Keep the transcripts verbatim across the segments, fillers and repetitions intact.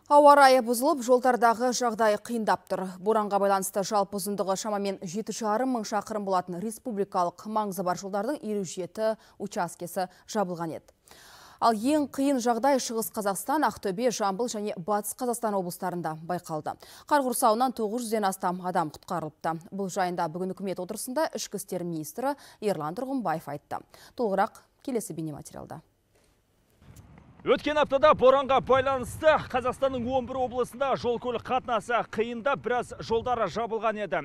Ауа райы бұзылып, жолдардағы жағдай қиындап тұр. Боранға байланысты жалпы ұзындығы шамамен жеті жарым мың шақырым болатын республикалық маңызы бар жолдардың елу жеті учаскесі жабылған еді. Ал ең қиын жағдай Шығыс Қазақстан, Ақтөбе, Жамбыл және Батыс Қазақстан облыстарында байқалды. Қар құрсауынан тоғыз жүзден астам адам құтқарылыпты. Бұл жайында бүгін үкімет отырысында ішкі істер министрі Ерлан Тұрғымбаев айтты. Толығырақ келесі бейнематериалда. Өткен аптада боранға байланысты Қазақстанның он бір облысында жол көлік қатынасы қиында, біраз жолдары жабылған еді.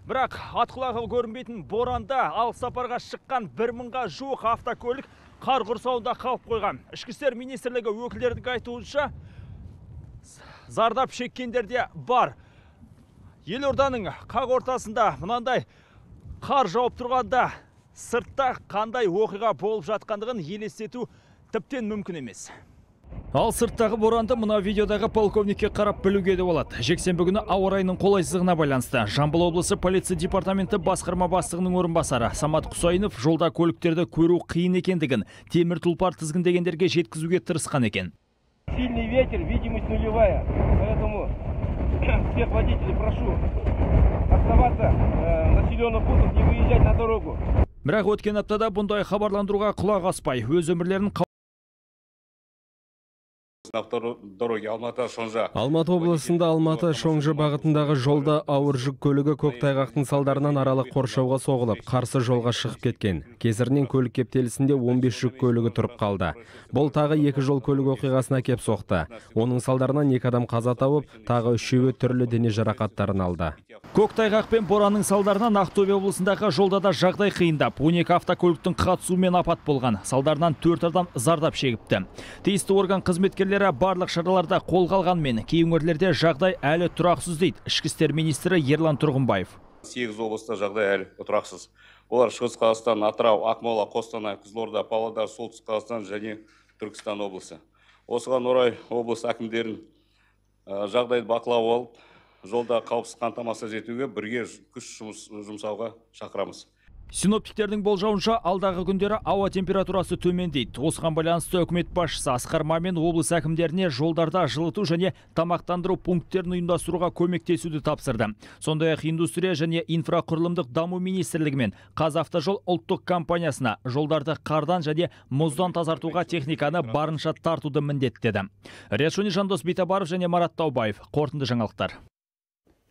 Бірақ атқұлағы көрінбейтін боранда ал сапарға шыққан бір мыңға жуық автокөлік қар құрсауында қалып қойған. Ішкі істер министрлігі өкілдерінің айтуынша зардап шеккендер де бар. Елорданың қақ ортасында мынандай қар жауып тұрғанда сыртта қандай оқиға болып жатқандығын елестету тіптен мүмкін емес. Ал сырттағы боранды мына видеодағы полковникке қарап білуге де болады. Жексенбі күні ауа райының қолайсыздығына байланысты Жамбыл облысы полиция департаменті басқарма бастығының орынбасары Самат Құсайынов жолда көліктерді көру қиын екендігін, темір тұлпар тізгіндегендерге жеткізуге тырысқан екен. Сильный ветер, видимость нулевая, поэтому всех водителей прошу оставаться в населенных пунктах, не выезжать на дорогу. Бірақ өткен аптада бұндай хабарландыруға құлақ аспай, өз өмірлерін Алматы облысында Алматы-Шоңжы бағытындағы жолда ауыр жүк көлігі көктайғақтың салдарынан аралық қоршауға соғылып, қарсы жолға шығып кеткен. Кесірінен көлік кептелісінде он бес жүк көлігі тұрып қалды. Бұл тағы екі жол көлік оқиғасына кеп соқты. Оның салдарынан екі адам қаза тауып, тағы үшеуі түрлі дене жарақаттарын алды. Көктайғақ пен боранның салдарынан Ақтөбе облысындағы жолда да жағдай қиындап, он екі автокөліктің қатысуымен апат болған. Салдарынан төрт адам зардап шегіпті. Тиісті орган қызметкерлері барлық шараларда қолға алғанмен, кей өңірлерде жағдай әлі тұрақсыз дейді ішкі істер министрі Ерлан Тұрғымбаев. сегіз облыста жағдай әлі тұрақсыз. Олар Шығыс Қазақстан, Атырау, Ақмола, Қостанай, Қызылорда, Павлодар, Солтүстік Қазақстан және Түркістан облысы. Осыған орай облыс әкімдерін жағдайды бақылап алып, жолда қауіпсіз қамтамасыз етуге бірге күш жұмсауға шақырамыз. Синоптиктердің болжауынша алдағы күндері ауа температурасы төмендейді. Осыған байланысты үкімет басшысы Асқар Мамин облыс әкімдеріне жолдарда жылыту және тамақтандыру пункттерін ұйымдастыруға көмектесуді тапсырды. Сондай-ақ индустрия және инфрақұрылымдық даму министрлігі мен Қазавтожол ұлттық компаниясына жолдарды қардан және мұздан тазартуға техниканы барынша тартуды міндеттеді. Риат Шони, Жандос Битабаров және Марат Таубаев. Қорытынды жаңалықтар.